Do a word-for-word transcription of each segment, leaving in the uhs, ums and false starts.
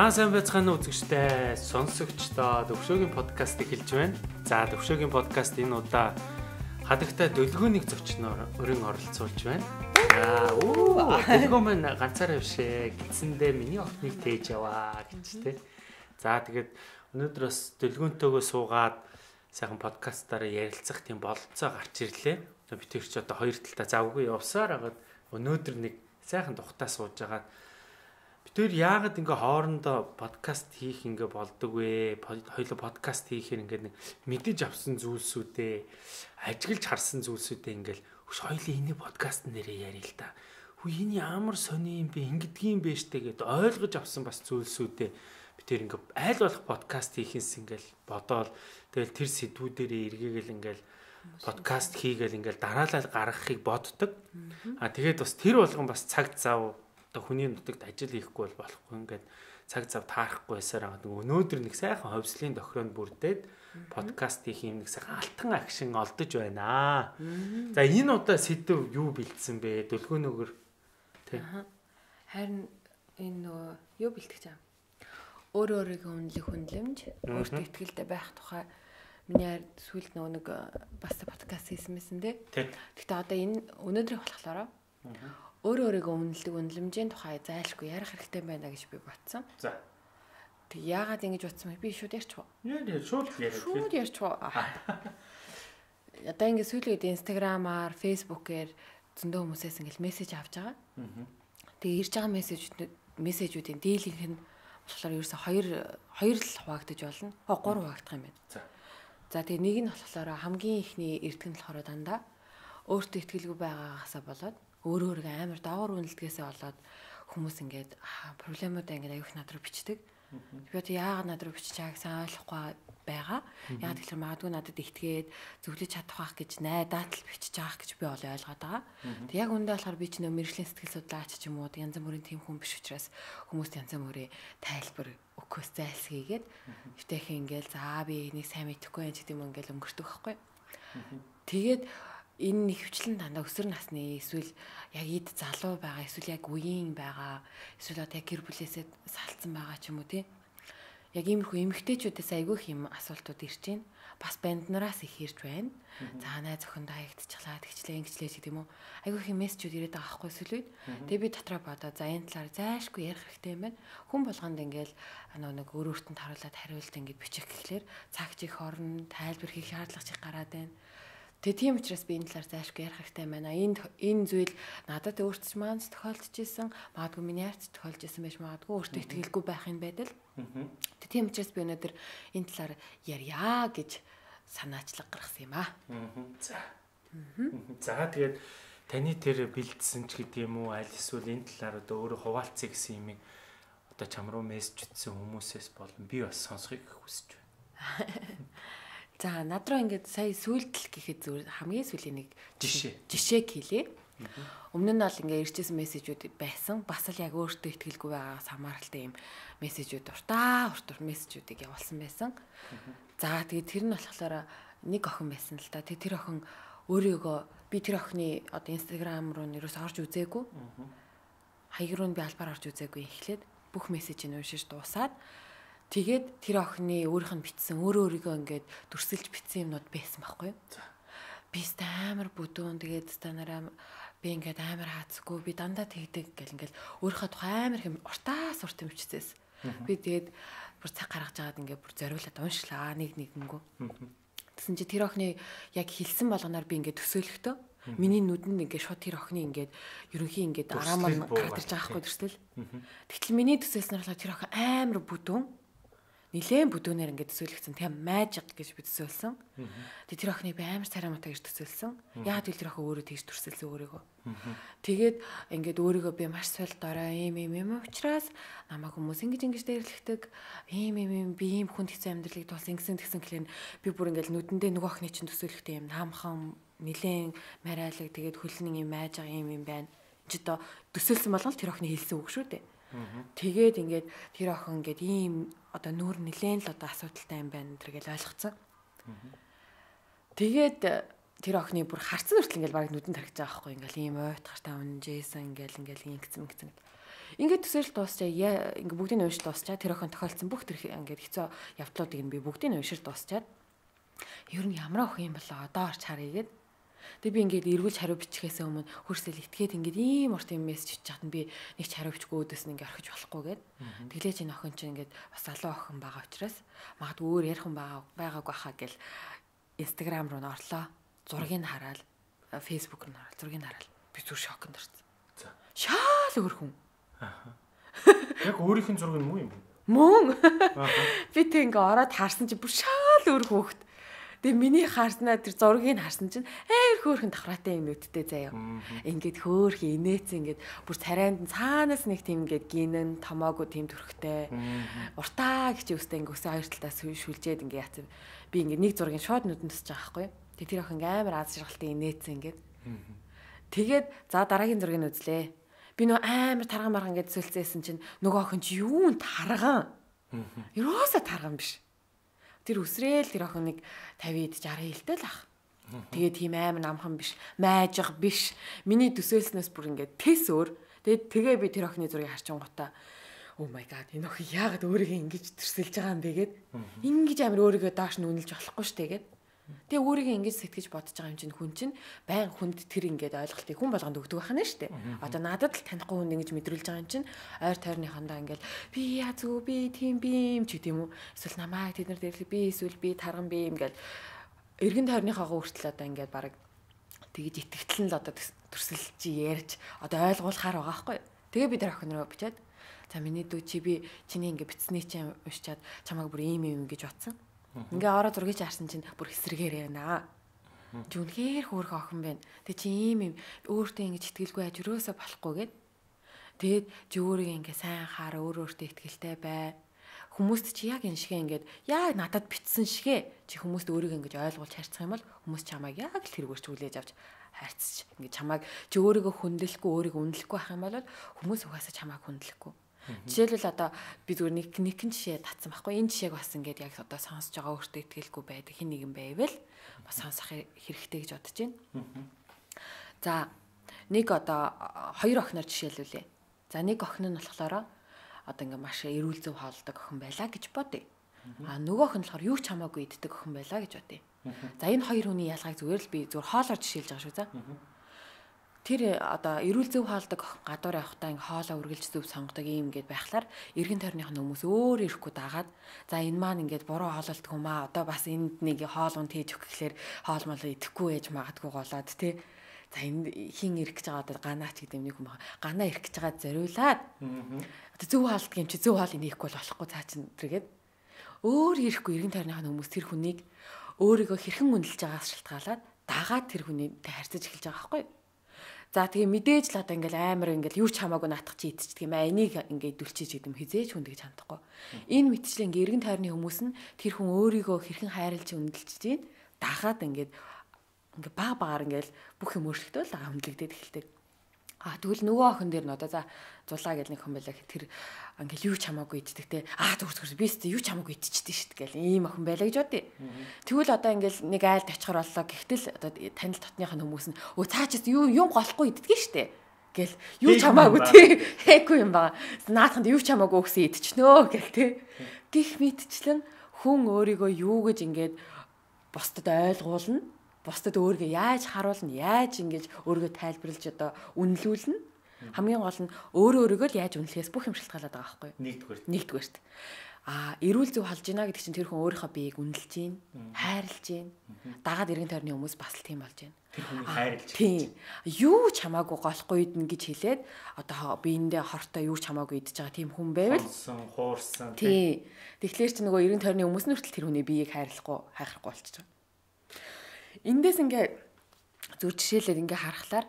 Аа сайн байцгаана уу үзэгчтэй, сонсогчдоо Төвшөөгийн подкаст эхэлж байна. За Төвшөөгийн подкаст энэ удаа хадагтай дөлгөөнийг зочноор өрн оролцуулж байна. За оо дөлгөө маань ганцаараа бишээ гидсэндээ миний охиныг тээж яваа гэж тэ. За тэгээд өнөөдөр бас дөлгөөнтэйгөө суугаад сайхан подкастаараа ярилцах тийм бололцоо гарч ирлээ. Би тэр чи одоо хоёр талтай завгүй явсаар хагаад өнөөдөр нэг сайхан тухтаа сууж байгаа. Тэр яагаад ингээ хоорондоо подкаст хийх ингээ болдог вэ? Хоёулаа подкаст хийхээр ингээ нэг мэдэж авсан зүйлсүүдээ ажиглаж харсан зүйлсүүдээ ингээл хөш хоёулаа энэ подкаст нэрээ ярил л та. Хүү энэ ямар сони юм бэ? Ингэдгийм бэ штэ гэд ойлгож авсан бас зүйлсүүдээ би тэр ингээ айл болох подкаст хийхээс ингээл бодоол тэгэл тэр сэдвүүдээрээ эргээгээл ингээл подкаст хийгээл ингээл дараалал гаргахыг боддог. А тэгээд бас тэр болгон бас цаг зав хүний нутагт ажил хийхгүй бол болохгүй ингээд цаг зав таарахгүй байсаар байгаа. Өнөөдөр нэг сайхан ховслын тохироонд бүрдээд подкаст хийх юм нэг сайхан алтан акшн олдож байна. За энэ удаа сэдв юу бэлдсэн бэ? Дөлгөөнөөр тий. Харин энэ нөгөө юу бэлтгэж байгаа. Өөр өөрийгөө үнэлэх хүнлэмж, өөртөө ихтэй байх тухай миний сүүлд нөгөө нэг бас подкаст хийсэн мэсэн тий. Гэхдээ одоо энэ өнөөдрийн болохоор өөр өөрийгөө үнэлдэг үнэлэмжийн тухай зайлшгүй ярих хэрэгтэй байна гэж би бодсон. За. Тэг яагаад ингэж бодсон бэ? Би шууд ярьчих уу? Яа яа шууд яриа. Шууд ярьчих уу? Одоо ингэ сүүлийн үед Instagram-аар, Facebook-ээр зөндөө хүмүүсээс ингэ мессеж авч байгаа. Тэгээ ирж байгаа мессежүүд мессежүүдийн дийлийнх нь болохоор ерөөсө хоёр хоёр л хуваагдаж болно. Хоо гурав хуваагдах юм байна. За. За тэгээ нэг нь болохоор хамгийн ихний эрдгэн нь болохоор дандаа өөртөө итгэлгүй байгаагаасаа болоод өөр өөргөө амар даавар үнэлдгээсээ болоод хүмүүс ингээд проблемуудаа ингээд аюух над руу бичдэг. Би одоо яагаад над руу бичиж байгааг сайн ойлгохгүй байгаа. Яагаад гэвэл магадгүй надад итгээд зөвлөж чадах байх гэж найдаад л бичиж байгаах гэж би олоо ойлгоод байгаа. Тэг яг үндэ болохоор би ч нөө мэржлийн сэтгэл судлаач ч юм уу янз бүрийн тийм хүн биш учраас хүмүүст янз бүрийн тайлбар өгөхөөс зайлсхийгээд өвтэйхэн ингээд за би энийг сайн мэдэхгүй юм ч гэдэг юм ингээд өнгөртөх байхгүй. Тэгээд энэ нэвчлэн дандаа өсвөр насны эсвэл яг эд залуу байгаа эсвэл яг үеийн байгаа эсвэл одоо яг гэр бүлээсээ салцсан байгаа ч юм уу тий. Яг иймэрхүү эмэгтэйчүүдээс айгүй их юм асуултууд ирж байна. Бас банднараас их ирж байна. За найз охинд хаягдчихлаа тэгчлээ ингэчлээ гэдэг юм уу. Айгүй их мессежүүд ирээд байгаа байхгүй сүлүүд. Тэгээ би дотроо бодоо за энэ талаар зайлшгүй ярих хэрэгтэй юм байна. Хүн болгонд ингээл нэг өөр өөртөнд харуулад хариулт ингээд бичих гэхлээр цаг чих орно тайлбар хийх шаардлага чих гараад байна. Тэгээ тийм учраас би энэ талаар зайлшгүй ярих хэрэгтэй байна. Энэ энэ зүйл надад өөртөө ч маань тохиолдож исэн, магадгүй миний хайрт тохиолдож исэн байж магадгүй өөртөө итгэлгүй байхын байдал. Тэгээ тийм учраас би өнөөдөр энэ талаар ярья гэж санаачлаг гаргасан юм аа. За. За тэгээд таны тэр бэлдсэн ч гэдэг юм уу аль эсвэл энэ талаар одоо өөрөө хуваалцъя гэсэн юмыг одоо чам руу мессеж ütсэн хүмүүсээс болон би бас сонсхийг хүсэж байна. За над руу ингээд сая сүйдэл гэхэд зүгээр хамгийн сүүлийн нэг жишээ жишээг хэлье. Өмнө нь бол ингээд ирчихсэн мессежүүд байсан. Бас л яг өөртөө итгэлгүй байгаагаас хамааралтай юм мессежүүд уртаа уртур мессежүүдийг явуулсан байсан. За тэгээд тэр нь болохоор нэг охин байсан л да. Тэгээд тэр охин өөрийгөө би тэр охины одоо Instagram руу нэрээс орж үзээгүй. Хаяг руу би албаар орж үзээгүй эхлээд бүх мессежийг уншиж дуусаад тэгээд тэр охины өөрийнх нь бичсэн өөрөө өөрийгөө ингээд дүрсэлж бичсэн юмнууд байсан байхгүй юу? Би амар бүдүүн тэгээд станараа би ингээд амар хаацгүй би дандаа тэгдэг гэл ингээд өөрийнхөө тухай амар хэм уртаас урт юм бичсээс. Би тэгээд бүр цаг гаргаж агаад ингээд бүр зориулаад уншлаа нэг нэгэнгүү. Тэсэн чи тэр охины яг хэлсэн болгоноор би ингээд төсөөлөхдөө миний нүдэнд ингээд шууд тэр охины ингээд ерөнхий ингээд араамаа гаргаж байгаа хгүй төрсөл. Тэгтэл миний төсөөлснөр болохоор тэр охин амар бүдүүн нилээн бүдүүнээр ингээд төсөөлөгцөн тийм magic гэж би төсөөлсөн. Тэгээ тэр охины би амар царамаатай гэж төсөөлсөн. Яагаад гэвэл тэр охин өөрөө тэгж төсөөлсөн өөрийгөө. Тэгээд ингээд өөрийгөө би маш сул дорой ийм ийм юм учраас намайг хүмүүс ингэж ингэж дээрлэгдэг. Ийм ийм ийм би ийм хүнд хэцүү амьдралыг тулсан ингэсэн тэгсэн гэхлээр би бүр ингээд нүдэндээ нөгөө охины чинь төсөөлөхтэй юм наамхан нилээн марайлаг тэгээд хөлнийн юм magic ийм ийм байна. Чи одоо төсөөлсөн болгол тэр охины хэлсэн үг шүү дээ. Тэгээд ингээд тэр охин ингээд ийм одоо нүүр нилээн л одоо асуудалтай юм байна тэргээл ойлгоцсон. Тэгээд тэр охины бүр харцсан хүртэл ингээд баг нүдэнд тархиж байгаа байхгүй ингээл ийм уйтгартай унжээсэн ингээл ингээл ингэсэн ингэсэн. Ингээд төсөөлөл дуусчаа ингээд бүгдийг нь уншиж дуусчаа тэр охин тохиолдсон бүх тэр ингээд хэцүү явдлуудыг нь би бүгдийг нь уншиж дуусчаад ер нь ямар охин юм болоо одоо орч харъя гэд. Тэг би ингээд эргүүлж хариу бичихээс өмнө хөрсөл итгээд ингээд ийм урт юм мессеж хийж хахад би нэг ч хариу бичихгүй өөдөөс нь ингээд орхиж болохгүй гэд. Тэглээж энэ охин чинь ингээд бас залуу охин байгаа учраас магадгүй өөр ярих хүн байгаа байгаагүй хаа гэл Instagram руу н орлоо. Зургийг нь хараад Facebook руу н орол зургийг нь хараад би зүр шоконд орсон. За. Шаал өөр хүн. Аа. Яг өөрийнх нь зураг нь муу юм. Мөн. Би тэг ингээ ороод харсан чи бүр шаал өөр хөөхт. Тэгээ миний харснаа тэр зургийг харсан чинь ээр хөөхөн давхраатай юм нүдтэй заяа. Ингээд хөөх инээц ингээд бүр царайнд нь цаанаас нэг тийм ингээд гинэн томоогүй тийм төрхтэй. Уртаа гэж үстэй ингээд өсөө хоёр талаас шүлжээд ингээд яцсан. Би ингээд нэг зургийг шууд нүдэнд тусаж байгаа байхгүй. Тэгээ тэр охин амар аз жаргалтай инээц ингээд. Тэгээд за дараагийн зургийг үзлээ. Би нөө амар тарган марган гэж зөвлөсөн чинь нөгөө охин чи юунд тарган? Ерөөсө тарган биш. Тэр үсрээл тэр охин нэг тавьд шараа хилтэй л ах. Тэгээд тийм амар намхан биш, майжих биш. Миний төсөөлснөөс бүр ингээд тэс өөр. Тэгээд тэгээ би тэр охины зургийг харчин гутаа. Oh my god, энэ охин яагаад өөрийгөө ингэж төрсөлж байгаа юм бэ гэд. Ингэж амар өөрийгөө доош нь үнэлж болохгүй шүү дээ гэд. Тэгээ өөрийгөө ингэж сэтгэж бодож байгаа юм чинь хүн чинь байн хүнд тэр ингээд ойлголтыг хүн болгонд өгдөг байх нь шүү дээ. Одоо надад л танихгүй хүн ингэж мэдрүүлж байгаа юм чинь ойр тойрныхандаа ингээд би яа зү би тийм би юм ч гэдэм үү. Эсвэл намайг тэд нар дээр би эсвэл би тарган би юм гээд эргэн тойрныхоо хүртэл одоо ингээд баг тэгж итгэвтэл нь л одоо төрсөлж ярьж одоо ойлгуулахаар байгаа байхгүй. Тэгээ би тэр охин руу бичээд за миний дүү чи би чиний ингээд битсний чинь уншичаад чамайг бүр ийм юм гэж бодсон. Ингээ ороо зургийг харсан чинь бүр эсрэгээр байна. Чи үнэхээр хөөрхөн охин байна. Тэг чи ийм юм өөртөө ингэж итгэлгүй аж өрөөсө болохгүй гэд. Тэгээд чи өөрийгөө ингээ сайн хаар өөр өөртөө итгэлтэй бай. Хүмүүст чи яг энэ шигээ ингээд яг надад битсэн шигээ чи хүмүүст өөрийгөө ингэж ойлгуулж харьцах юм бол хүмүүс чамайг яг л тэргүүрч хүлээж авч хайрцаж ингээ чамайг чи өөрийгөө хүндлэхгүй өөрийгөө үнэлэхгүй байх юм бол хүмүүс угаасаа чамайг хүндлэхгүй. Жишээлбэл одоо би зүгээр нэг нэгэн жишээ татсан байхгүй. Энэ жишээг бас ингээд яг одоо сонсож байгаа өөртөө итгэлгүй байдаг хин нэгэн байвал бас сонсох хэрэгтэй гэж бодож байна. За нэг одоо хоёр охиноор жишээлүүлээ. За нэг охин нь болохоор одоо ингээд маш эрүүл зөв хоолдог охин байлаа гэж бодъё. А нөгөө охин болохоор юу ч хамаагүй иддэг охин байлаа гэж бодъё. За энэ хоёр хүний ялгааг зүгээр л би зүгээр хоолоор жишээлж байгаа шүү за. Тэр одоо эрүүл зөв хоолдог гадуур явахдаа ингээ хоолоо үргэлж зөв сонгодог юм гээд байхлаар эргэн тойрных нь хүмүүс өөр ирэхгүй дагаад за энэ маань ингээд буруу хоололдог юм аа одоо бас энд нэг хоол унд хийж өгөх гэхлээр хоол мал идэхгүй ээж магадгүй голоод тий. За энэ хин ирэх гэж байгаа одоо ганаач гэдэг нэг хүн байгаа. Ганаа ирэх гэж байгаа зориулаад одоо зөв хоолдог юм чи зөв хоол инехгүй болохгүй цаа чин тэргээд өөр ирэхгүй эргэн тойрных нь хүмүүс тэр хүнийг өөрийгөө хэрхэн үнэлж байгаас шалтгаалаад дагаад тэр хүнийтэй харьцаж эхэлж байгаа байхгүй. За тэгээ мэдээж л одоо ингээл амар ингээл юу ч хамаагүй наатах чи идчихдэг юм аа. Энийг ингээд дүлчиж гэдэг юм хизээж хүндэж чадахгүй. Энэ мэтчлэн ингээ эргэн тойрны хүмүүс нь тэр хүн өөрийгөө хэрхэн хайрлж үнэлж чинь дахаад ингээд ингээ баг багаар ингээл бүх юм өөрчлөгдөв л хөндлөгдөд эхэлдэг. А тэгвэл нөгөө охин дээр нь одоо за зулаа гэл нэг хүн байлаа тэр ингээл юу ч хамаагүй иддэг те. Аа зүр зүр би ч юу ч хамаагүй идчихдэг шүү дээ гэл ийм охин байлаа гэж бодъё. Тэгвэл одоо ингээл нэг айлд очихор боллоо. Гэхдээ одоо танил дотныхын хүмүүс нь өө цаа чи юу юм голохгүй иддэг шүү дээ гэл юу ч хамаагүй те. Хэхгүй юм байгаа. Наадханд юу ч хамаагүй өгсөн идчихнөө гэл те. Гих мэдчлэн хүн өөрийгөө юу гэж ингээд бусдад ойлгуулна. Бусдад өөрийгөө яаж харуулна, яаж ингэж өөрийгөө тайлбарлаж одоо үнэлүүлнэ. Хамгийн гол нь өөрөө өөрийгөө л яаж үнэлэхээс бүх юм шалтгаалаад байгаа байхгүй юу? Нэгдүгээр. Нэгдүгээрт. Аа, эрүүл зөв холж ийна гэдэг чинь тэр хүн өөрийнхөө биеийг үнэлж гин, хайрлж гин. Дагаад эргэн тойрны хүмүүс бас л тийм болж гин. Тэр хүнийг хайрлж. Тийм. Юу ч хамаагүй голохгүй идэн гэж хэлээд одоо биендээ хортой юу ч хамаагүй идэж байгаа тийм хүн байвал хуурсан, хуурсан. Тийм. Тэгэхээр чи нөгөө эргэн тойрны хүмүүс нь хүртэл тэр хүний биеийг хайрлахгүй, хайхрахгүй болчихж байгаа. Эндээс ингээ зүр жишээлээд ингээ харахаар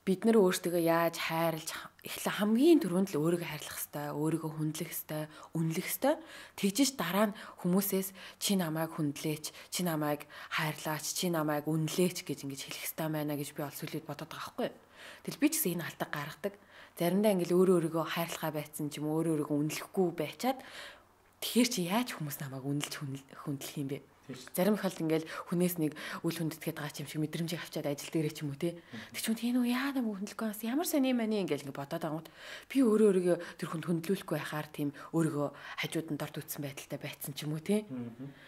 бид нар өөрсдөө яаж хайрлж эхлээ хамгийн түрүүнд л өөрийгөө хайрлах хэвээр, өөрийгөө хүндлэх хэвээр, үнэлэх хэвээр. Тэгжиж дараа нь хүмүүсээс чи намайг хүндлээч, чи намайг хайрлаач, чи намайг үнэлээч гэж ингэж хэлэх хэвээр байна гэж би олсүүлээд бодоод байгаа байхгүй. Тэгэл би ч гэсэн энэ алдаг гаргадаг. Заримдаа ингээл өөрөө өөрийгөө хайрлахаа байцсан ч юм өөрөө өөрийгөө үнэлэхгүй байчаад тэгэхээр чи яаж хүмүүс намайг үнэлж хүндлэх юм бэ? Зарим их бол ингээл хүнээс нэг үл хүндэтгээд байгаа юм шиг мэдрэмжийг авчаад ажил дээрээ ч юм уу те. Тэг ч юм тийм үү яа нам хүндлэхгүй бас ямар сони юм ани ингээл ингээ бодоод байгууд би өөрөө өөрийгөө тэр хүнд хөндлүүлэхгүй байхаар тийм өөрийгөө хажууд нь дорд үтсэн байдалтай байцсан ч юм уу те.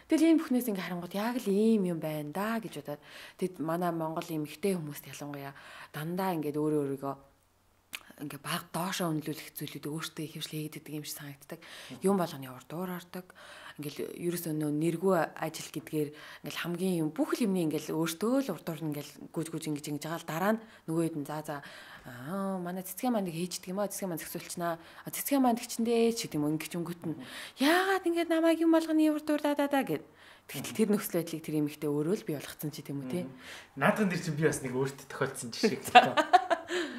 Тэгэл ийм бүхнээс ингээ харангууд яг л ийм юм байна да гэж бодоод тэгэд манай Монгол эмэгтэй хүмүүст ялангуяа дандаа ингээд өөрөө өөрийгөө ингээ баг доошоо үнэлүүлэх зүйлүүд өөртөө ихэвчлэн хийдэг юм шиг санагддаг. Юм болгоны урд дуур ордог. Ингээл ерөөсөө нөө нэргүй ажил гэдгээр ингээл хамгийн юм бүх юмны ингээл өөртөө л урд дуур ингээл гүйж гүйж ингэж ингэж байгаа л дараа нь нөгөөд нь за за аа манай цэцгээ маань нэг хийждэг юм аа цэцгээ маань зөксүүлчихнаа. Цэцгээ маань тэгчэндээ ч гэдэг юм ингээд өнгөт нь яагаад ингээд намайг юм болгоны урд дуур да да да гэд. Тэгтэл тэр нөхцөл байдлыг тэр эмэгтэй өөрөө л бий болгоцсон ч гэдэм үү те. Наадхан дээр чинь би бас нэг өөртөө тохиолдсон жишээ гэх.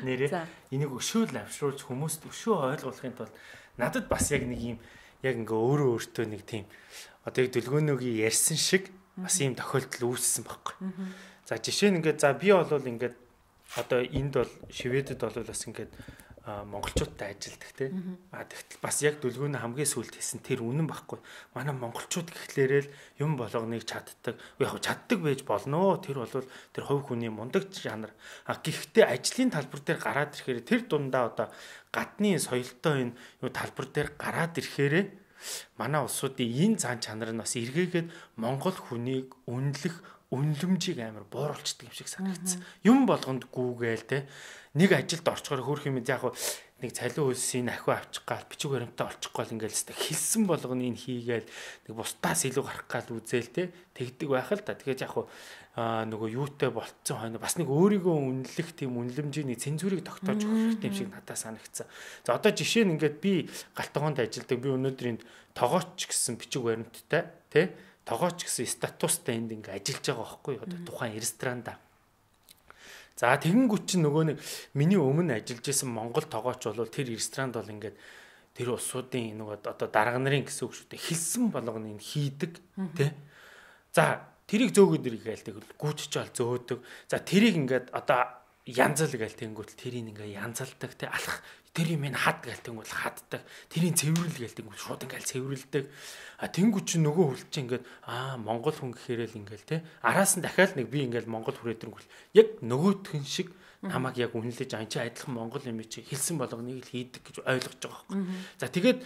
Нэрээ энийг өшөөл авшруулж хүмүүст өшөө ойлгуулахын тулд надад бас яг нэг юм яг ингээ өөрөө өөртөө нэг тийм одоо яг Дөлгөөнөөгийн ярьсан шиг бас ийм тохиолдол үүссэн байхгүй. За жишээ нь ингээд за би бол ингээд одоо энд бол Шведэд бол бас ингээд монголчуудтай ажилдаг те. А тэгтэл бас яг Дөлгөөнөө хамгийн сүүлд хийсэн тэр үнэн байхгүй. Манай монголчууд гэхлээрэл юм болгоныг чаддаг. Яг чаддаг байж болно. Тэр бол тэр хувь хүний мундаг жанр. А гэхдээ ажлын талбар дээр гараад ирэхээр тэр дундаа одоо гадны соёлтой энэ юу талбар дээр гараад ирэхээр манай улсуудын энэ цаан чанар нь бас эргээгээд монгол хүнийг үнэлэх үнлэмжийг амар бууруулцдаг юм шиг санагдсан. Юм болгонд гүүгээл те нэг ажилд орчгоор хөөх юм яг нэг цалин хөлсийн ахиу авчих гал бичиг баримтаа олчих гал ингээл хэвээр хэлсэн болгоно энэ хийгээл нэг бусдаас илүү гарах гал үзээл те тэгдэг байх л та. Тэгэхээр яг нөгөө юутай болцсон хойно бас нэг өөрийгөө үнэлэх тийм үнлэмжийн цензурыг тогтоож өгөх хэрэгтэй юм шиг надад санагдсан. За одоо жишээ нь ингээд би галтгоонд ажилдаг би өнөөдөр энд тогооч гэсэн бичиг баримттай те тогооч гэсэн статустай энд ингээ ажиллаж байгаа байхгүй одоо тухайн ресторанда. За тэгэнгүүт чинь нөгөө нэг миний өмнө ажиллаж исэн монгол тогооч бол тэр ресторанд бол ингээд тэр улсуудын нөгөө одоо дарга нарын гэсэн үг шүү дээ хэлсэн болгоно энэ хийдэг тий. За тэрийг зөөгөөд иргээл тэгэл гүйчж ол зөөдөг. За тэрийг ингээд одоо янзал гээл тэнгүүт тэрийг ингээ янзалдаг тий алах тэр юм ин хад гээл тэнгүүт хаддаг. Тэрийн цэвэрлэл гээл тэнгүүт шууд ингээл цэвэрлдэг. А тэнгүүт чи нөгөө хүл чи ингээд аа монгол хүн гэхээрэл ингээл тий араас нь дахиад нэг би ингээл монгол хүрээдрэнгүүл яг нөгөөтгөн шиг намайг яг үнэлж ан чи адилхан монгол юм чи хэлсэн болгоныг л хийдэг гэж ойлгож байгаа байхгүй. За тэгээд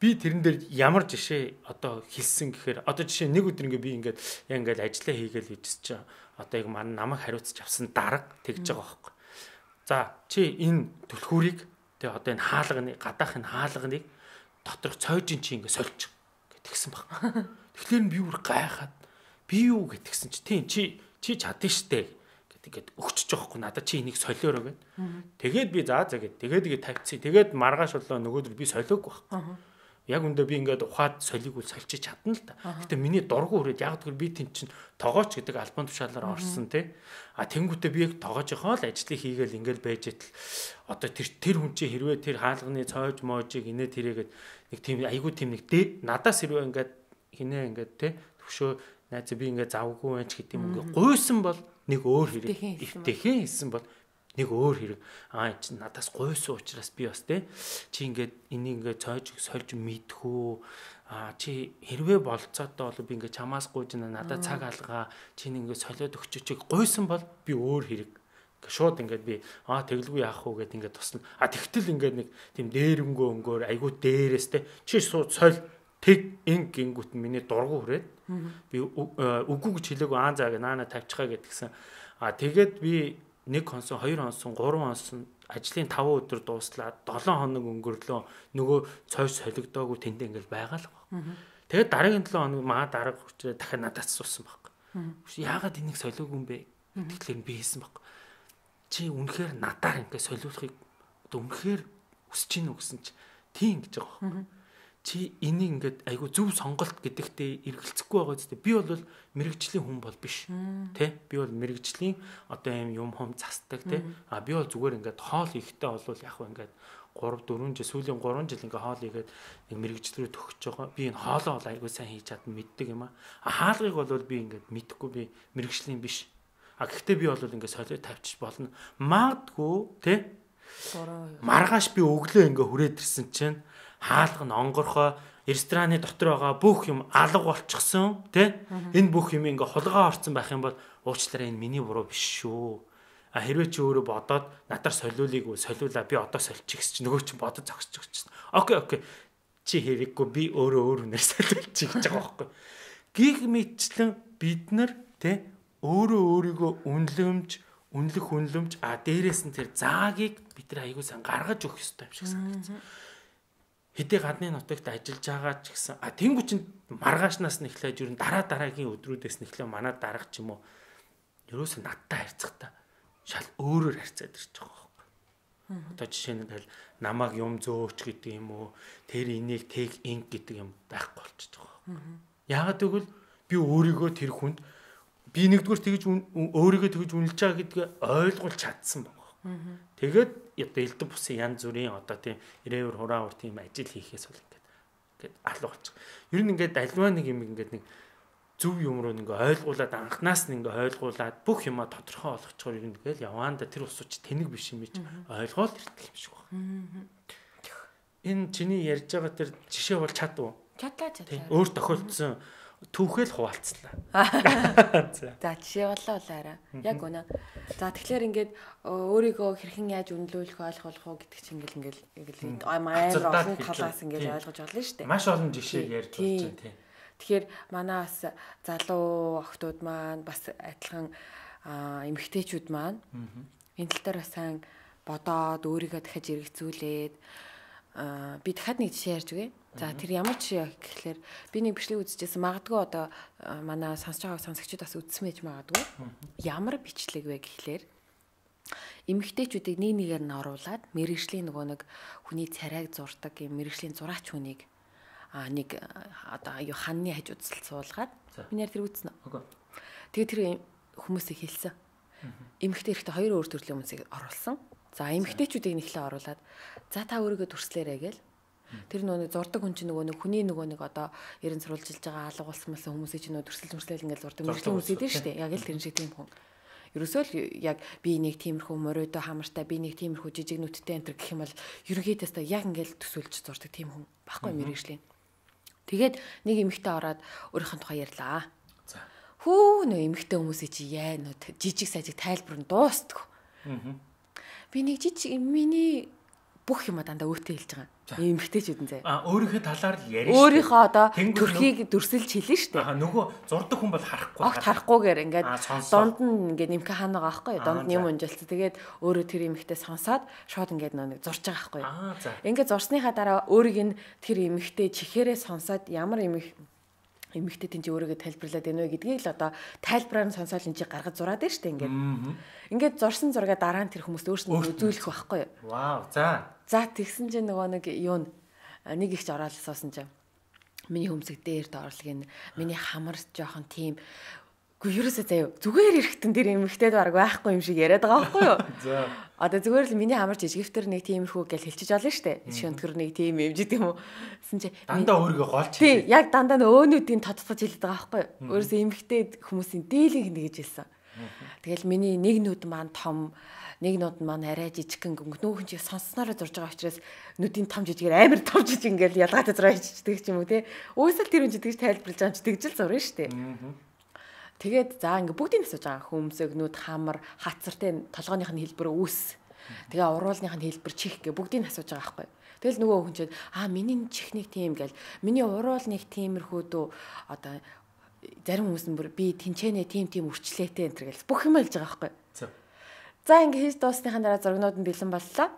би тэрэн дээр ямар жишээ одоо хэлсэн гэхээр одоо жишээ нэг өдөр ингээ би ингээд яг ингээд ажиллаа хийгээл хийжсэн чи одоо яг маань намайг хариуцж авсан дарга тэгж байгаа байхгүй. За чи энэ түлхүүрийг тэгээ одоо энэ хаалганы гадаахын хаалганыг доторх цойжин чи ингээ сольж гэтгсэн баг. Тэгэхээр би бүр гайхаад би юу гэтгсэн чи тийм чи чи чадна штэ гэдэг өгчөж байгаа хгүй надад чи энийг солиороо гэд. Тэгээд би заа заа гэд тэгээд тэгээд тавьчих. Тэгээд маргааш болоо нөгөөдөр би солиогүй баг. Яг үндэ би ингээд ухаад солиг үл сольчиж чадна л та. Гэтэ миний дургу хүрээд яг тэр би тэн чин тогооч гэдэг альбом тушаалаар орсон тий. А тэнгуүтээ би яг тогоожийнхоо л ажлыг хийгээл ингээд байж итэл одоо тэр тэр хүн чи хэрвээ тэр хаалганы цоож моожиг инээ тэрэгээд нэг тийм айгуу тийм нэг дээд надаас хэрвээ ингээд хинээ ингээд тий төвшөө найз би ингээд завгүй байж гэдэг юм ингээд гуйсан бол нэг өөр хэрэг ивтэхэн хэлсэн бол нэг өөр хэрэг аа чи надаас гуйсан учраас би бас те чи ингээд энийг ингээд цойж сольж мэдхүү аа чи хэрвээ болцоотой бол би ингээд чамаас гуйж надад цаг алгаа чи ингээд солиод өгчөөч гуйсан бол би өөр хэрэг шууд ингээд би аа тэглгүй яах вэ гэд ингээд тусна а тэгтэл ингээд нэг тийм дээрэнгөө өнгөөр айгуу дээрээс те чи сууд соль тэг ин гингүүт миний дургу хүрээд би үгүй гэж хэлээгүй аа заа гэ наана тавьчихаа гэдгсэн а тэгээд би нэг хонсон, хоёр хонсон, гурван хонсон ажлын таван өдөр дууслаад долоон хоног өнгөрлөө нөгөө цойж солигдоогүй тэндээ ингээл байгаа л байна. Тэгээд дараагийн долоон хоног маа дарга хүчрээ дахиад надад асуусан баг. Яагаад энийг солиогүй юм бэ? Тэгэхээр би хэлсэн баг. Чи үнэхээр надаар ингээд солиулахыг одоо үнэхээр хүсэж гинүү гэсэн чи тийм гэж байгаа баг. Чи энийг ингээд айгу зөв сонголт гэдэгтээ эргэлзэхгүй байгаа зү. Би бол мэрэгжлийн хүн бол биш. Тэ? Би бол мэрэгжлийн одоо юм юм хом застдаг тэ. А би бол зүгээр ингээд хоол хийхдээ бол яг хөө ингээд гурав дөрвөн жил сүүлийн гурван жил ингээд хоол хийгээд нэг мэрэгжил рүү төгсөж байгаа. Би энэ хоолоо бол айгу сайн хийж чадна мэддэг юм аа. А хаалгыг бол би ингээд мэдэхгүй би мэрэгжлийн биш. А гэхдээ би бол ингээд солио тавьчих болно. Магадгүй тэ? Маргааш би өглөө ингээд хүрээд ирсэн чинь хаалга нь онгорхоо рестораны дотор байгаа бүх юм алга болчихсон тий. Энэ бүх юм ингээ хулгай орсон байх юм бол уучлаарай энэ миний буруу биш шүү. А хэрвээ чи өөрөө бодоод надаар солиулыг уу солиулаа би одоо сольчих гэж чи нөгөө чи бодож зогсож өгч. Окей окей. Чи хэрэггүй би өөрөө өөр үнээр солиулчих гэж байгаа байхгүй. Гих мэтчлэн бид нар тий өөрөө өөрийгөө үнлэмж, үнлэх үнлэмж а дээрээс нь тэр заагийг бид нар аягүй сан гаргаж өгөх ёстой юм шиг санагдсан. Хэдий гадны нутагт ажиллаж байгаа ч гэсэн а тэнгуү чин маргаашнаас нь эхлээд ер нь дараа дараагийн өдрүүдээс нь эхлээ манай дарга ч юм уу ерөөсөө надтай харьцахтаа шал өөрөөр харьцаад ирж байгаа байхгүй. Одоо жишээ нь тэгэл намайг юм зөөч гэдэг юм уу тэр энийг тэг инг гэдэг юм байхгүй болчихж байгаа. Яагаад гэвэл би өөрийгөө тэр хүнд би нэгдүгээр тэгж өөрийгөө тэгж үнэлж байгаа гэдгээ ойлгуулж чадсан байна. Тэгээд одоо элдв бусын янз бүрийн одоо тийм ирээвэр хураавар тийм ажил хийхээс бол ингээд ингээд алга болчих. Ер нь ингээд альва нэг юм ингээд нэг зөв юм руу ингээ ойлгуулад анханаас нь ингээ ойлгуулад бүх юма тодорхой болгочгоор ер нь ингээл яваанда тэр усууч тэнэг биш юм чи ойлгоол ирдэг юм шиг байна. Энэ чиний ярьж байгаа тэр жишээ бол чад уу? Чадлаа чадлаа. Өөр тохиолдсон түүхэл хуваалцлаа. За жишээ боллоо болоорой. Яг үнэ. За тэгэхээр ингээд өөрийгөө хэрхэн яаж үнэлүүлэх ойлгох уу гэдэг чинь ингээл ингээл ингээл амар олон талаас ингээл ойлгож болно шүү дээ. Маш олон жишээ ярьж болж байна тийм. Тэгэхээр манай бас залуу охтууд маань бас адилхан эмэгтэйчүүд маань энэ тал дээр сайн бодоод өөрийгөө дахиж эргэцүүлээд би дахиад нэг жишээ ярьж өгье. За тэр ямар жишээ гэхэлэр би нэг бичлэг үзчихсэн. Магадгүй одоо манай сонсож байгаа сонсогчид бас үзсэн байж магадгүй. Ямар бичлэг вэ гэхэлэр эмэгтэйчүүдийг нэг нэгээр нь оруулаад мэргэжлийн нөгөө нэг хүний царайг зурдаг юм мэргэжлийн зураач хүнийг а нэг одоо аюу ханны хажууд суулгаад минийэр тэр үзсэн үү? Тэгээ тэр хүмүүсийг хэлсэн. Эмэгтэй эрэхтэй хоёр өөр төрлийн хүмүүсийг оруулсан. За эмэгтэйчүүдийг нэхлээ оруулаад за та өөрийгөө дүрслээрэй гээл. Тэр нөгөө зурдаг хүн чинь нөгөө нэг хүний нөгөө нэг одоо ерэн сурвалжилж байгаа алга болсон мэлсэн хүмүүсийг чинь нөгөө дүрслэл дүрслэл ингээл зурдаг мэргэжлийн хүмүүс идэв штэ. Яг л тэр шиг тийм хүн. Ерөөсөө л яг би нэг тиймэрхүү моройдо хамартай би нэг тиймэрхүү жижиг нүдтэй энэ гэх юм бол ерөнхийдөө яг ингээл төсөөлж зурдаг тийм хүн баггүй мэргэжлийн. Тэгээд нэг эмэгтэй ороод өөрийнх нь тухай ярьлаа. За. Хүү нөө эмэгтэй хүмүүсийн чи яа нөө жижиг сажиг тайлбар нь дуустдаг. Аа. Би нэг жижиг миний бүх юм дандаа өөтөө хэлж байгаа. Эмэгтэйчүүд нь заа. А өөрийнхөө талаар л яриа шүү. Өөрийнхөө одоо төрхийг дүрсэлж хэлнэ шүү дээ. Аа нөгөө зурдаг хүн бол харахгүй. Огт харахгүйгээр ингээд донд нь ингээд нэмхэ хаана байгаа байхгүй юу? Донд нь юм унжилц. Тэгээд өөрөө тэр эмэгтэй сонсоод шууд ингээд нэг зурж байгаа байхгүй юу? Аа за. Ингээд зурсныхаа дараа өөрийг нь тэр эмэгтэй чихээрээ сонсоод ямар эмэг эмэгтэй тэн чи өөрийгөө тайлбарлаад байна вэ гэдгийг л одоо тайлбараар нь сонсоод энэ чи гаргаж зураад байна шүү дээ ингээд. Ингээд зурсан зургаа дараа нь тэр хүмүүст өөрсдөө үзүүлэх байхгүй юу? Вау, за. За тэгсэн чинь нөгөө нэг юу нэг ихч ороод суусан чинь миний хөмсөг дээр доорлог энэ миний хамар жоохон тийм үгүй ерөөсөө заяа зүгээр эрэхтэн дээр эмэгтэйд баг байхгүй юм шиг яриад байгаа байхгүй юу? За. Одоо зүгээр л миний хамар жижигвтер нэг тиймэрхүү гэж хэлчихэж олно штэ. Шөнтгөр нэг тийм юм жид юм уу? Гэсэн чи дандаа өөрийгөө голч хэлээ. Тий, яг дандаа өөнүүдийн тодтогч хэлээд байгаа байхгүй юу? Өөрөөсөө эмэгтэй хүмүүсийн дээлийг нэгж хэлсэн. Тэгэл миний нэг нүд маань том, нэг нүд маань арай жижигхэн гөнгө нүүхэн чи сонсснороо зурж байгаа учраас нүдийн том жижигээр амар том жижиг ингээл ялгаатай зураа хийчихдэг ч юм уу те. Өөсөл тэр хүн жидгэж тайлбарлаж байгаа ч тэгжэл зурна штэ. Тэгээд за ингээ бүгдийг асууж байгаа хөмсөг нүд хамар хацартай толгойных нь хэлбэр үүс. Тэгээ уруулных нь хэлбэр чих гэ бүгдийг асууж байгаа байхгүй. Тэгэл нөгөө хүн чинь аа миний чихник тийм гэл миний уруулных тиймэрхүү дөө одоо зарим хүмүүс нь би тэнчэнэ тийм тийм үрчлээтэй энэ гэл бүх юм хэлж байгаа байхгүй. За ингээ хийж дуусныхаа дараа зургнууд нь бэлэн боллоо.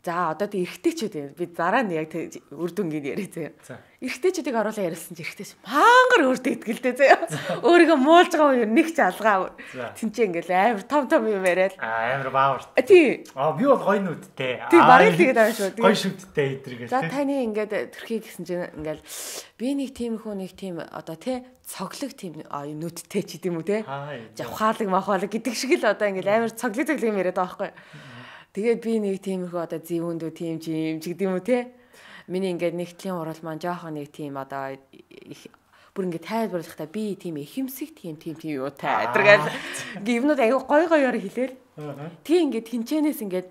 За одоо тэг эргэжтэйчүүд би дараа нь яг үр дүнгийн яриа заяа. Эргэжтэйчүүдийг оруулаа яриулсан чи эргэжтэйч мангар өөртөө итгэлтэй заяа. Өөрийгөө муулж байгаа юм нэг ч алгаа. Тинчээ ингээл амар том том юм яриад. Амар баавар. Тий. Аа би бол гоё нүдтэй. Тий барыг тэгээд ааш шүү. Гоё шүдтэй эдэргээл. За таны ингээд төрхий гэсэн чинь ингээл би нэг тиймэрхүү нэг тийм одоо тий цоглог тийм нүдтэй ч гэдэм үү те. Завхаалаг махаалаг гэдэг шиг л одоо ингээл амар цоглог цоглог юм яриад байгаа байхгүй. Тэгээд би нэг тиймэрхүү одоо зэвүүндүү тийм ч юм ч гэдэм үү те. Миний ингээд нэгтлийн урал маань жоохон нэг тийм одоо бүр ингээд тайлбарлахдаа би тийм ихэмсэг тийм тийм тийм юу та гэдэргээл гівнүүд аягүй гой гоёор хэлээл. Тэг ингээд хинчэнээс ингээд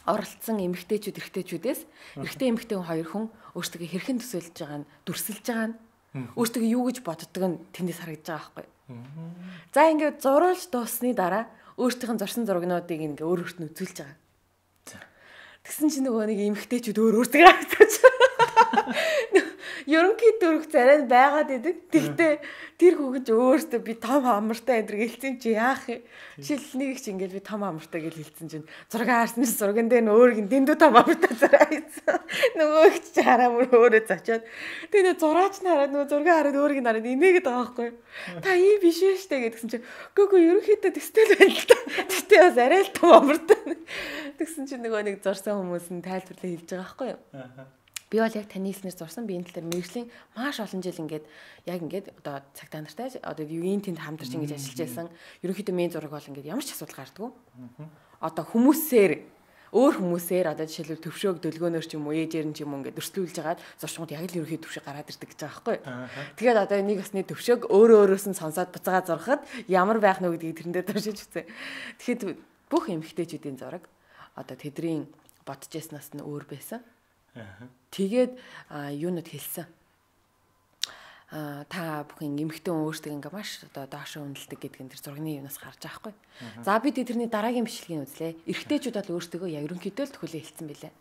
оролцсон эмэгтэйчүүд эрэгтэйчүүдээс эрэгтэй эмэгтэй хоёр хүн өөрсдөө хэрхэн төсөөлж байгаа нь дүрсэлж байгаа нь өөртөө юу гэж боддог нь тэндээс харагдаж байгаа байхгүй. За ингээд зурулж дуусны дараа өөртөөх нь зорсон зурагнуудыг ингээ өөр өөрт нь үзүүлж байгаа. Тэгсэн чинь нөгөө нэг эмэгтэйчүүд өөр өөртөө харагдаж ерөнхий дөрөв царайд байгаад идэг. Тэгтээ тэр хүүхэн ч өөртөө би том амартай энэ гэлцэн чи яах юм. Жишээл нэг ч ингээд би том амартай гэж хэлсэн чинь зураг харсан чинь зурган дээр нь өөрийг дэндүү том амартай царай хийсэн. Нөгөө их ч хараа мөр өөрөө зочоод. Тэгээ зураач нь хараад нөгөө зураг хараад өөрийг нь хараад инээгээд байгаа байхгүй. Та ийм биш ээ штэ гэдгсэн чинь гүгөө ерөнхийдөө тэстэл байна л та. Тэгтээ бас арай л том амартай. Тэгсэн чинь нөгөө нэг зурсан хүмүүс нь тайлбарлаа хэлж байгаа байхгүй юу. Би бол яг таны хэлснээр зурсан би энэ тал мэргэжлийн маш олон жил ингээд яг ингээд одоо цагтаа нартай одоо юуийн тэнд хамтарч ингэж ажиллаж байсан. Ерөнхийдөө мен зураг бол ингээд ямар ч асуудал гардаггүй. Одоо хүмүүсээр өөр хүмүүсээр одоо жишээлбэл төвшөөг дөлгөөнөр ч юм уу ээжээр нь ч юм уу ингээд өрсөлдүүлж хагаад зурчмууд яг л ерөнхий төвшөө гараад ирдэг гэж байгаа байхгүй. Тэгээд одоо нэг басны төвшөөг өөрөө өөрөөс нь сонсоод буцаага зурхад ямар байх нь вэ гэдгийг тэрэндээ туршиж үзье. Тэгэхэд бүх эмэгтэйчүүдийн зураг одоо тэдний бодож яснаас нь өөр байсан. Тэгээд юунод хэлсэн. А та бүхэн эмэгтэй өөртөө ингээ маш одоо доошоо үнэлдэг гэдг нь тэр зургийн юунаас гарч байгаа хгүй. За бид тэрний дараагийн бичлэгийг үзлээ. Эрэгтэйчүүд бол өөртөө яг ерөнхийдөө л төхөлөө хэлсэн билээ.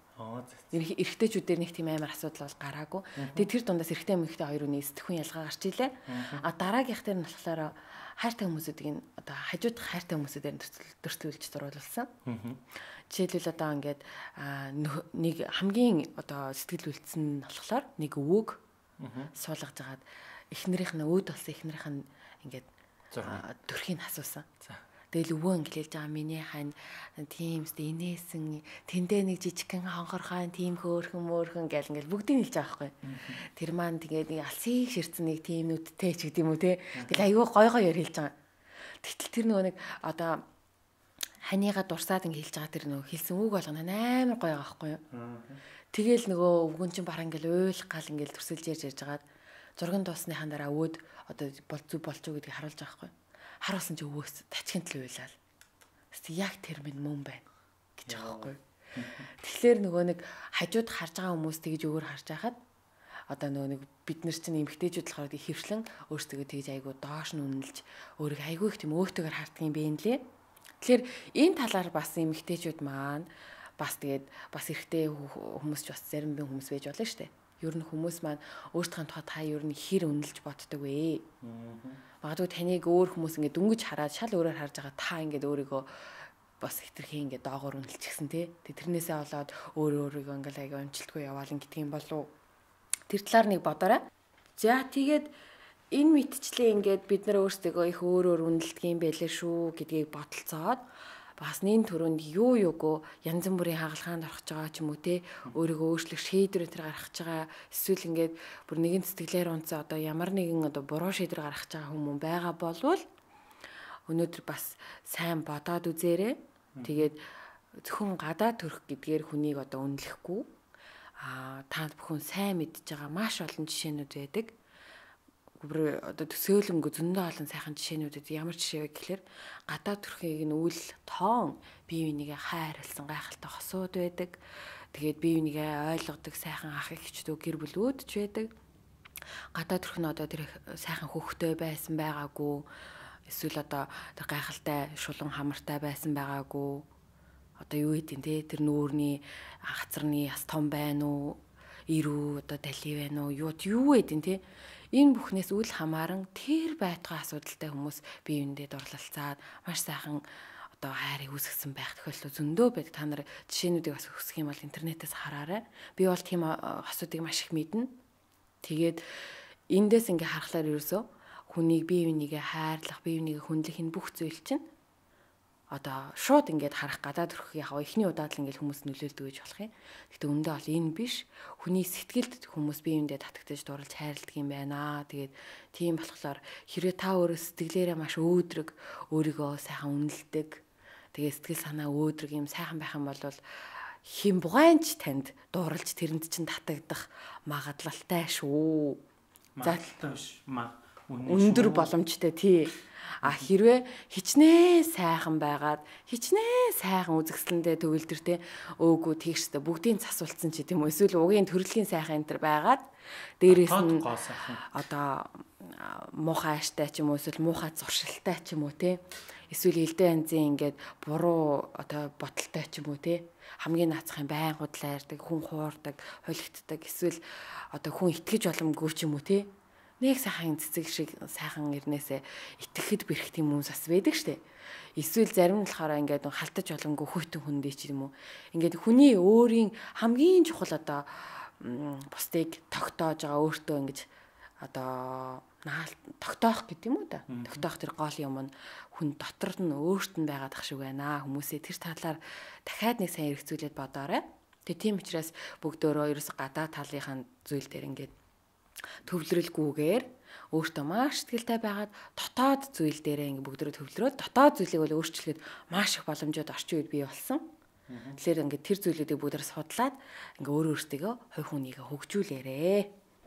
Эрэгтэйчүүдээр нэг тийм амар асуудал бол гараагүй. Тэгээд тэр дундаас эрэгтэй эмэгтэй хоёр үний сэтгхүүн ялгаа гарч илээ. А дараагийнх дээр нь болохоор хайртай хүмүүсүүдийг одоо хажуудах хайртай хүмүүсүүдээр төртөлж зурулсан. Жишээлбэл одоо ингээд нэг хамгийн одоо сэтгэл үлдсэн нь болохоор нэг өвөг суулгаж агаад эхнэрийнх нь өөд болсон эхнэрийнх нь ингээд төрхийг асуусан. Тэгэл өвөө инглээж байгаа миний хань тиймстэй инээсэн тэндээ нэг жижигхэн хонхорхон тийм хөөрхөн мөөрхөн гэл ингээл бүгдийг хэлж байгаа байхгүй. Тэр маань тэгээд нэг алсыг ширцэн нэг тийм нүдтэй ч гэдэм үү те. Тэгэл аюу гой гоёор хэлж байгаа. Тэгтэл тэр нөгөө нэг одоо ханигаа дурсаад ингээ хэлж байгаа тэр нөгөө хэлсэн үг болгоно амар гоё байгаа байхгүй юу. Тэгэл нөгөө өвгөн чинь баран ингээл уйл гал ингээл төрсөлж ярьж ярьж хагаад зургийн дуусныхаа дараа өөд одоо бол зүг болчих уу гэдгийг харуулж байгаа байхгүй юу. Харуулсан чи өвөөс тачгийн тал уйлал. Тэс яг тэр минь мөн байна гэж байгаа байхгүй юу. Тэгэхээр нөгөө нэг хажууд харж байгаа хүмүүс тэгж өөр харж байхад одоо нөгөө нэг бид нар чинь эмгтээчүүд болохоор хөвшлэн өөрсдөө тэгж айгуу доош нь үнэлж өөрийг айгуу их тийм өөртөөр харддаг юм бэ нэлээ. Тэгэхээр энэ талаар бас эмэгтэйчүүд маань бас тэгээд бас эрэгтэй хүмүүс ч бас зарим бин хүмүүс байж болно шүү дээ. Ер нь хүмүүс маань өөртөө тухай та ер нь хэр үнэлж боддог вэ? Магадгүй таныг өөр хүмүүс ингээд дөнгөж хараад шал өөрөөр харж байгаа та ингээд өөрийгөө бас хитрхи ингээд доогоор үнэлчихсэн тий. Тэрнээсээ болоод өөр өөрийгөө ингээд аяга амжилтгүй яваалан гэдгийг болов. Тэр талаар нэг бодоорой. За тэгээд энэ мэдчлээ ингээд бид нар өөрсдөө их өөр өөр үнэлдэг юм байлээ шүү гэдгийг бодолцоод бас нэн төрөнд юу юугүй янз бүрийн хагалгаанд орох байгаа ч юм уу те өөрийгөө өөрчлөх шийдвэр өтер гаргах байгаа эсвэл ингээд бүр нэгэн сэтгэлээр унцаа одоо ямар нэгэн одоо буруу шийдвэр гаргах байгаа хүмүүс байгаа болвол өнөөдөр бас сайн бодоод үзээрэй. Тэгээд зөвхөн гадаа төрөх гэдгээр хүнийг одоо үнэлэхгүй а та бүхэн сайн мэдж байгаа маш олон жишээнүүд байдаг. Гүр одоо төсөөлөнгө зөндөө олон сайхан жишээнүүдэд ямар жишээ вэ гэхээр гадаа төрхийг нь үл тоон бие бинийгээ хайрлсан гайхалтай хосууд байдаг. Тэгээд бие бинийгээ ойлгодог сайхан ах эгчдөө гэр бүлүүд ч байдаг. Гадаа төрх нь одоо тэр сайхан хөвгтэй байсан байгаагүй. Эсвэл одоо тэр гайхалтай шулан хамартай байсан байгаагүй. Одоо юу хийдин те тэр нүүрний хацарны яс том байна уу? Ирүү одоо дали байна уу? Юу юу хийдин те энэ бүхнээс үл хамааран тэр байтугай асуудалтай хүмүүс бие биендээ дурлалцаад маш сайхан одоо хайрыг үүсгэсэн байх тохиолдол зөндөө байдаг. Та нар жишээнүүдийг бас өсгөх юм бол интернетээс хараарай. Би бол тийм асуудыг маш их мэднэ. Тэгээд эндээс ингээ харахаар ерөөсөө хүнийг бие бинийгээ хайрлах, бие бинийгээ хүндлэх энэ бүх зүйл чинь одоо шууд ингээд харах гадаад төрөх яг ихний удаад л ингээд хүмүүс нөлөөлдөг гэж болох юм. Гэтэ өндөө бол энэ биш. Хүний сэтгэлд хүмүүс биеиндээ татагдаж дурлж хайрладаг юм байна. Тэгээд тийм болохоор хэрвээ та өөрөө сэтгэлээрээ маш өөдрөг, өөрийгөө сайхан үнэлдэг. Тэгээд сэтгэл санаа өөдрөг юм сайхан байх юм бол хин бугаанч танд дурлж тэрэнд чинь татагдах магадлалтай шүү. Магадлалтай биш. өндөр боломжтой тий. А хэрвээ хичнээн сайхан байгаад хичнээн сайхан үзэсгэлэндээ төвлөртэй өөгөө тийштэй бүгдийн засуулсан ч гэдэм үү эсвэл угийн төрөлхийн сайхан энэ төр байгаад дээрээс нь одоо муухай ааштай ч юм уу эсвэл муухай зуршилтай ч юм уу те эсвэл элдэ анзын ингээд буруу одоо боталтай ч юм уу те хамгийн наацхан байн худлаа ярьдаг хүн хуурдаг холигддаг эсвэл одоо хүн итгэж боломгүй ч юм уу те нэг сайхан цэцэг шиг сайхан ирнээсээ итгэхэд бэрхт юм хүмүүс бас байдаг штэ. Эсвэл зарим нь болохоор ингээд халтаж боломгүй хөйтөн хүндээ ч юм уу. Ингээд хүний өөрийн хамгийн чухал одоо бусдыг тогтоож байгаа өөртөө ингэж одоо тогтоох гэдэг юм уу да. Тогтоох тэр гол юм нь хүн дотор нь өөрт нь байгаад ах шиг байна. Хүмүүсээ тэр талаар дахиад нэг сайн эргцүүлээд бодоорой. Тэгээ тийм учраас бүгдөө ерөөс гадаа талынхаа зүйл дээр ингээд төвлөрөлгүйгээр өөртөө маш сэтгэлтэй байгаад дотоод зүйл дээрээ ингээ бүгдөө төвлөрөөд дотоод зүйлийг бол өөрчлөхөд маш их боломжууд орчин үед бий болсон. Тэгэхээр ингээ тэр зүйлүүдийг бүгдээр судлаад ингээ өөрөө өөртөө хувь хүнийгээ хөгжүүлээрээ.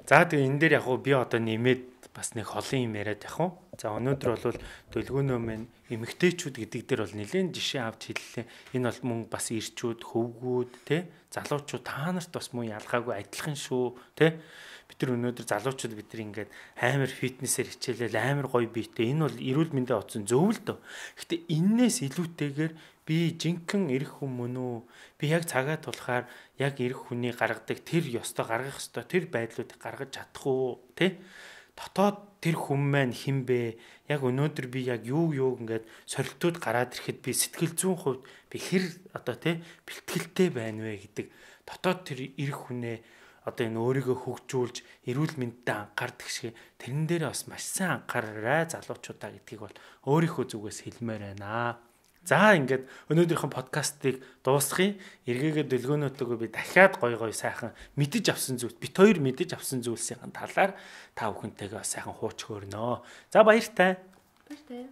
За тэгээ энэ дээр яг уу би одоо нэмээд бас нэг холын юм яриад яг уу. За өнөөдөр бол төлгөөнөө мэн эмэгтэйчүүд гэдэг дээр бол нэлээд жишээ авч хэллээ. Энэ бол мөн бас ирчүүд, хөвгүүд, тэ залуучууд та нарт бас мөн ялгаагүй адилхан шүү, тэ. Бид нар өнөөдөр залуучууд бид нар ингээд амар фитнесээр хичээлэл амар гоё биетэй. Энэ бол эрүүл мэндийн оцсон зөв л дөө. Гэтэ энээс илүүтэйгээр би жинхэнэ эрх хүн мөн үү? Би яг цагаа тулахаар яг эрх хүний гаргадаг тэр ёстой гаргах ёстой тэр байдлуудыг гаргаж чадах уу, тэ? Дотоод тэр хүн маань хэн бэ? Яг өнөөдөр би яг юу юу ингээд сорилтууд гараад ирэхэд би сэтгэл зүйн хувьд би хэр одоо тэ бэлтгэлтэй байна вэ гэдэг дотоод тэр эрх хүнээ одоо энэ өөрийгөө хөгжүүлж эрүүл мэндэд анхаардаг шиг тэрэн дээр бас маш сайн анхаараарай залуучуудаа гэдгийг бол өөрийнхөө зүгээс хэлмээр байна. За ингээд өнөөдрийнхөө подкастыг дуусгая. Эргээгээ дэлгөөнөөтэйгөө би дахиад гой гой сайхан мэдэж авсан зүйл бит хоёр мэдэж авсан зүйлсийн талаар та бүхэнтэйгээ сайхан хууч хөөрнө. За баяртай. Баяртай.